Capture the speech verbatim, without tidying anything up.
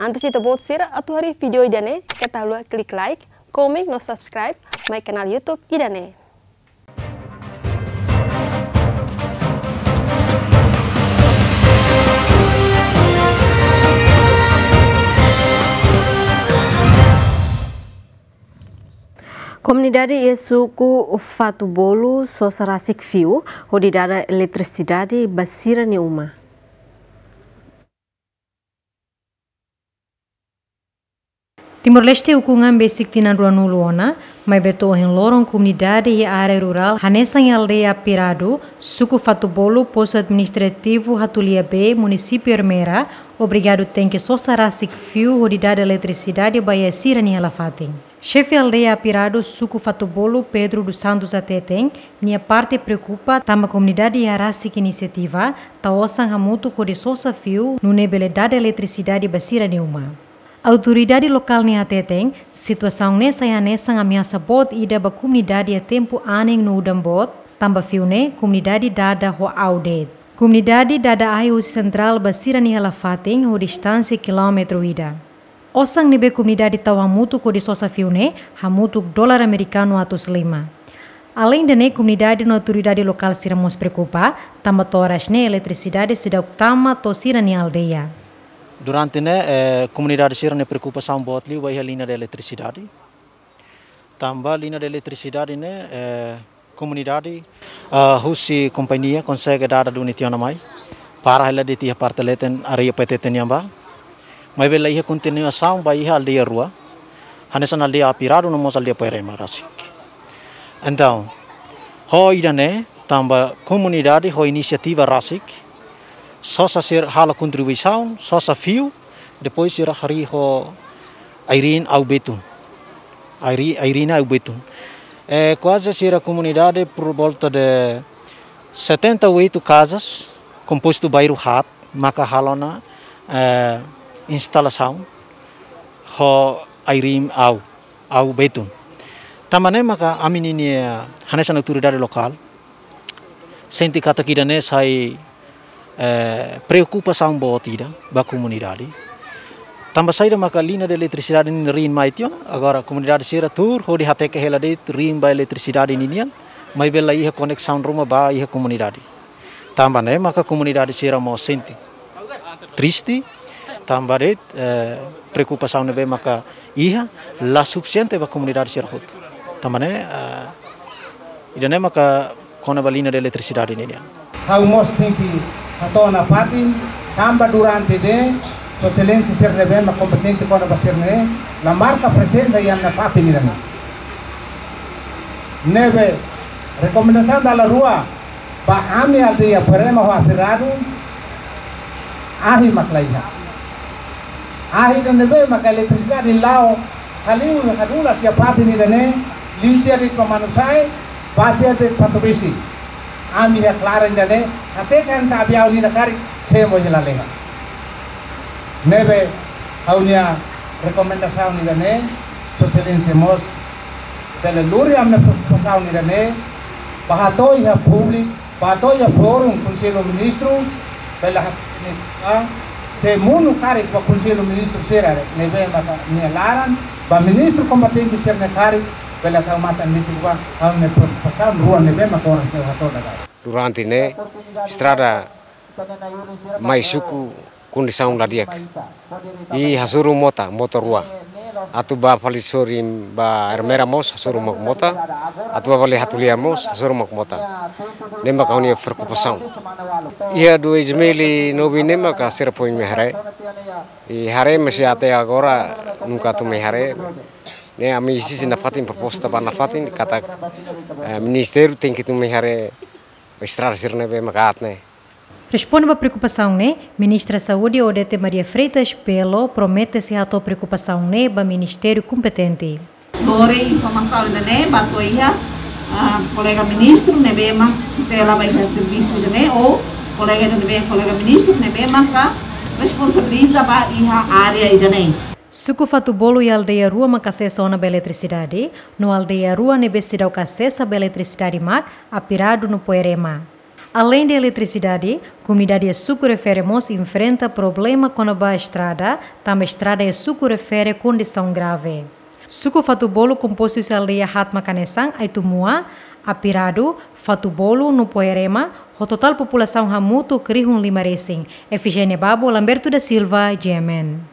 Antes ita-boot sira atu haree vídeo ida-ne'e, keta haluha klik like, komen no subscribe mai kanál YouTube ida-ne'e. Komunidade iha suku Fatubolu sosa rasik fiu hodi dada eletrisidade ba sira-nia uma. Timor-Leste ukun an besik tinan ruanulu ona, maibé to'o ohin loron komunidade iha área rurál hanesan iha aldeia Apiradu, suku Fatubolu, postu administrativu Hatulia B, munisípiu Ermera, obrigadu tenke sosa rasik fiu hodi dada eletrisidade ba iha sira-nia hela-fatin. Xefe aldeia Apiradu, suku Fatubolu, Pedro dos Santos hateten, nia parte preokupa tanba komunidade iha rasik inisiativa, tau osan hamutuk hodi sosa fiu, nune'e bele dada eletrisidade ba sira-nia uma. Autoridade lokál ne'e hateten, situasaun ne'e sai hanesan ameasa boot ida ba komunidade iha tempu anin no udan boot, tanba fiu ne'e komunidade dada ho aw de'it. Komunidade dada ahi husi sentrál ba sira-nia hela-fatin ho distánsia kilómetru ida. Osan ne'ebé komunidade tau hamutuk hodi sosa fiu ne'e hamutuk dolar amerikanu atus lima. Aleinde ne'e, komunidade no autoridade lokál sira mós preokupa, tanba to'o oras ne'e eletrisidade seidauk tama to'o sira-nia aldeia. Durante ne'e, eh, komunidade sira-nia preokupasaun boot liu ba iha liña de eletrisidade. Tanba liña de eletrisidade ne'e, eh, komunidade, ah, husi kompañia konsege dada duni tiha ona mai. Para hela de'it iha parte leten área P T T nian ba. Maibé la iha kontinuasaun ba iha aldeia rua. Hanesan aldeia Apiradu no mós aldeia Poerema rasik. Entaun, ho ida-ne'e, tanba komunidade ho inisiativa rasik, sosa sira halo kontribuisaun, sosa fiu, depois sira harii ho airiin aw betun. Airi-, airiin aw betun. Eh, kuaze sira komunidade por volta de setenta e oito casas, kompostu bairru haat, maka halo ona, eh, instalasaun ho airiin aw, aw betun. Tanba ne'e maka ami ninia, eh, hanesan autoridade lokál sente katak ida-ne'e sai, eh, preokupasaun boot ida ba komunidade. Tanba saida maka liña de eletrisidade ne'e riin mai tiha ona, agora komunidade sira tuur hodi hateke hela de'it riin ba eletrisidade ninian, maibé la iha koneksaun ruma ba iha komunidade. Tanba ne'e maka komunidade sira mós sente triste, tanba de'it, eh, preokupasaun ne'ebé maka iha la sufisiente ba komunidade sira hotu. Tanba ne'e, eh, ida-ne'e maka kona-ba liña de eletrisidade ninian. Ha'u mós tenke hato'o nafatin, tanba durante ne'e, Sua Exelénsia sira ne'ebé mak kompetente kona-ba sira-ne'e, la marka prezensa iha nafatin ida-ne'e. Ne'ebé, rekomendasaun dala rua, ba ami aldeia Poerema ho Apiradu, ahi mak la iha. Ahi ida ne'ebé maka eletrisidade la'o, haliu hadulas iha fatin ida-ne'e, liu tiha de'it ba Manusai, bá tiha de'it Fatubesi. Ami iha klaran ida-ne'e, até kan sa abiau nida karik, sé mós la lena. Ne'ebé, ha'u-nia rekomendasaun ida-ne'e, Sua Exelénsia mós, bele lori ami-nia preokupasaun ida-ne'e, bá hato'o iha públiku, bá hato'o iha fórum Konsellu Ministru, bele hatene, ah, se monu karik ba Konsellu Ministru sira ne'ebé maka nia laran, ba ministru kompetente sira-ne'e karik, bele tau matan netik ba, ha'u-nia preokupasaun rua ne'ebé maka oras ne'e hato'o dada. Durante ne'e, estrada mai suku kondisaun la di'ak. I hasoru mota, mota rua. Atu bá fali sorin ba Ermera mós hasoru mak mota. Atu bá fali Hatulia mós hasoru mak mota. Ne'e maka ha'u-nia preokupasaun. Iha dois mil e nove ne'e maka sira foin mai haree. I haree, mas até agora nunka atu mai haree. Ne'e ami iha nafatin proposta ba nafatin katak, eh, ministériu tenke atu mai haree estrada sira ne'ebé maka aat ne'e. Responde ba preokupasaun ne'e, Ministra Saúde Odete Maria Freitas Belo promete sei hato'o preokupasaun ne'e ba ministériu kompetente. Lori informasaun ida-ne'e ba to'o iha, ah, kolega ministru ne'ebé mak tutela ba iha servisu ida-ne'e, ou kolega ida ne'ebé, kolega ministru ne'ebé maka responsabiliza ba iha área ida-ne'e. Suku Fatubolu iha aldeia rua maka asesa ona ba eletrisidade, no aldeia rua ne'ebé seidauk asesa ba eletrisidade mak Apiradu no Poerema. Além de eletricidade, komunidade iha suku refere mós enfrenta problema kona-ba estrada, tanba estrada iha suku refere kondisaun grave. Suku Fatubolu kompostu husi aldeia Hatma Kanesan, Aitumua, Apiradu, Fatubolu no Poerema, ho totál populasaun hamutuk rihun lima resin. Efigénia Babo, Lamberto da Silva, G M N.